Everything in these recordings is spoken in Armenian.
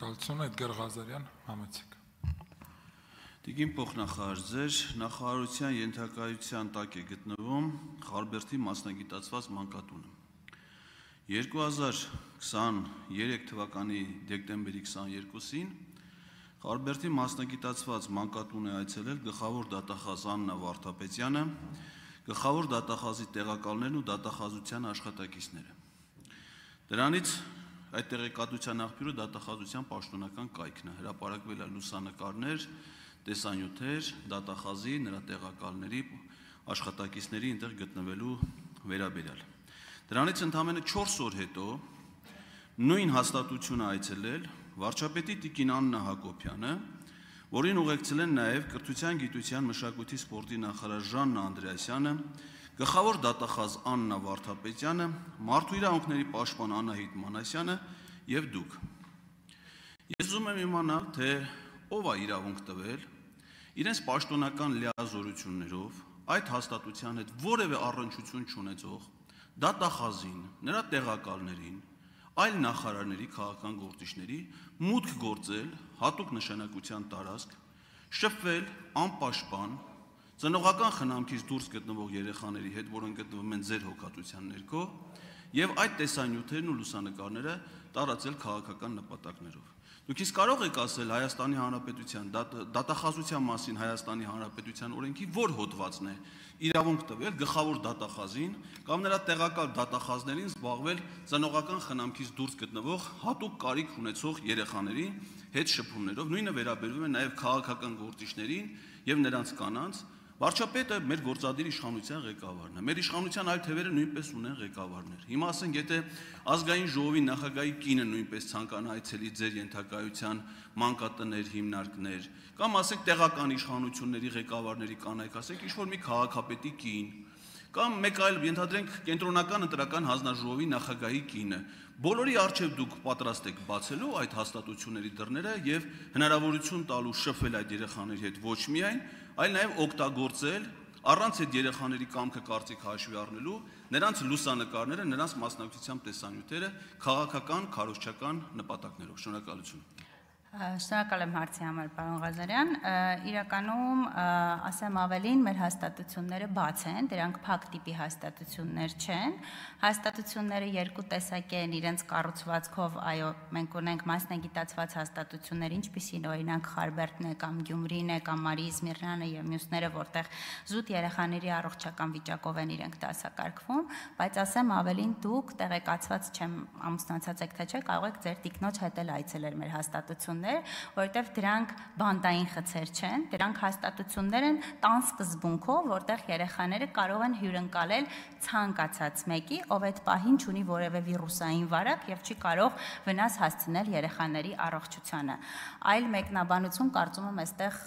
Շնորհակալություն, Էդգար Ղազարյան, համեցեք։ Տիկին փոխնախարար, ձեր նախարարության ենթակայության տակ է գտնվում Խարբերդի մասնագիտացված մանկատունը։ 2023 թվականի դեկտեմբերի 22-ին Խարբերդի մասնագիտացված մանկատուն է այցելել գլխավոր դատախազ Աննա Վարդապետյանը, գլխավոր դատախազի տեղակալներն ու դատախազության աշխատակիցները։ Դրանից այդ տեղեկատվության աղբյուրը դատախազության պաշտոնական կայքն է, հրապարակվել է լուսանկարներ, տեսանյութեր, դատախազի, նրա տեղակալների, աշխատակիցների այնտեղ գտնվելու վերաբերյալ։ Դրանից ընդամենը 4 օր հետո նույն հաստատությունը այցելել վարչապետի տիկին Աննա Հակոբյանը, որին ուղեկցել են նաև կրթության, գիտության, մշակույթի, սպորտի նախարար Ժաննա Անդրեասյանը, գլխավոր դատախազ Աննա Վարդապետյանը, մարդու իրավունքների պաշտպան Անահիտ Մանասյանը եւ դուք։ Ես ուզում եմ իմանալ, թե ով է իրավունք տվել իրենց պաշտոնական լիազորություններով այդ հաստատության հետ որևէ առնչություն չունեցող դատախազին, նրա տեղակալներին, այլ նախարարների, քաղաքական գործիչների մուտք գործել հատուկ նշանակության տարածք, շփվել անպաշտպան ծնողական խնամքից դուրս գտնվող երեխաների հետ, որոնք գտնվում են ձեր հոգատության ներքո, եւ այդ տեսանյութերն ու լուսանկարները տարածել քաղաքական նպատակներով։ Դուք իսկ կարող եք ասել Հայաստանի Հանրապետության դատախազության մասին Հայաստանի Հանրապետության օրենքի որ հոդվածն է իրավունք տվել գլխավոր դատախազին կամ նրա տեղակալ դատախազներին զբաղվել ծնողական խնամքից դուրս գտնվող հատուկ կարիք ունեցող երեխաների հետ շփումներով, նույնը վերաբերվում է նաև քաղաքական գործիչներին եւ նրանց կանանց։ Վարչապետը մեր գործադիր իշխանության ղեկավարն է։ Մեր իշխանության այլ թևերը նույնպես ունեն ղեկավարներ։ Հիմա ասենք, եթե ազգային ժողովի նախագահի կինը նույնպես ցանկանա այցելի ձեր ենթակայության մանկատներ, հիմնարկներ, կամ ասենք տեղական իշխանությունների ղեկավարների կանայք, ասենք ինչ-որ մի քաղաքապետի կին, կամ մեկ այլ ենթադրենք կենտրոնական ընտրական հանձնաժողովի նախագահի կինը, բոլորի առջև դուք պատրաստ եք բացելու այդ հաստատությունների դռները եւ հնարավորություն տալու շփվել այդ երեխաների հետ ոչ միայն, այլ նաև օգտագործել առանց այդ երեխաների կամքը կարծիք հաշվի առնելու նրանց լուսանկարները, նրանց մասնակցությամբ տեսանյութերը քաղաքական, քարոզչական նպատակներով։ Շնորհակալություն։ Շնորհակալ եմ հարցի համար, պարոն Ղազարյան։ Իրականում ասեմ ավելին, մեր հաստատությունները բաց են, դրանք փակ տիպի հաստատություններ չեն։ Հաստատությունները երկու տեսակ են իրենց կառուցվածքով, այո, մենք ունենք մասնագիտացված հաստատություններ, ինչպիսին օրինակ Խարբերդն է կամ Գյումրին է կամ Մարիի Զմիրնանը եւ մյուսները, որտեղ զուտ երեխաների առողջական վիճակով են իրենք դասակարգվում, բայց ասեմ ավելին, դուք տեղեկացված չեմ, ամուսնացած եք թե չէ, կարող եք ձեր տիկնոջ հետ էլ այցելել մեր հաստատություններ, որտեղ դրանք բանդային խցեր չեն, դրանք հաստատություններ են տան սկզբունքով, որտեղ երեխաները կարող են հյուրընկալել ցանկացած մեկի, ով այդ պահին չունի որևէ վիրուսային վարակ եւ չի կարող վնաս հասցնել երեխաների առողջությանը։ Այլ մեկնաբանություն կարծում եմ այստեղ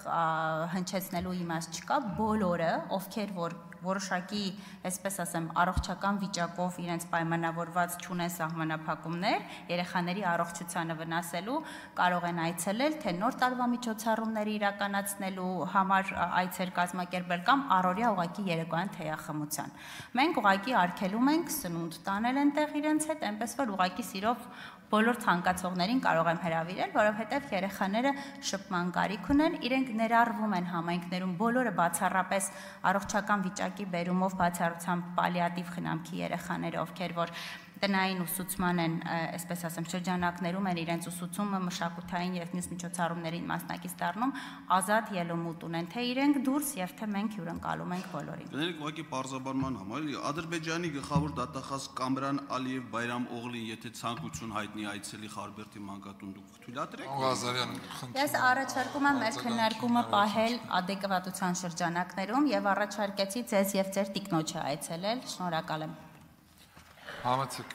հնչեցնելու իմաստ չկա, բոլորը, ովքեր որ որոշակի, այսպես ասեմ, առողջական վիճակով իրենց պայմանավորված չունեն սահմանափակումներ, երեխաների առողջությանը վնասելու, կարող են այցելել, թե նոր տարվա միջոցառումների իրականացնելու համար այցեր կազմակերպել կամ առօրյա ուղղակի երեկոյան թեյախմության։ Մենք ուղղակի արգելում ենք սնունդ տանել այնտեղ իրենց հետ, այնպես որ ուղղակի սիրով բոլոր ցանկացողներին կարող եմ հրավիրել, որովհետև երեխաները շփման կարիք ունեն, իրենք ներառվում են համայնքներում բոլորը բացառապես առողջական վիճակի բերումով բացառությամբ պալիատիվ խնամքի երեխաները, ովքեր որ տնային ուսուցման են, այսպես ասեմ, շրջանակներում են իրենց ուսուցումը մշակութային եւ մյուս միջոցառումներին մասնակից դառնում, ազատ ելումուտ ունեն, թե իրենք դուրս եւ թե մենք հյուրընկալում ենք բոլորին։ Գներեք ուղղակի պարզաբանման համար, Ադրբեջանի գլխավոր դատախազ Կամրան Ալիև Բայրամ Օղլին, եթե ցանկություն հայտնի այցելի Խարբերդի մանկատուն, դուք թույլատրեք։ Ղազարյան, Ես առաջարկում եմ մեր քննարկումը պահել adekvatության շրջանակներում եւ առաջարկեցի ձեզ եւ ձեր տիկնոջը այցելել։ Շնորհակալ եմ։ Համեցեք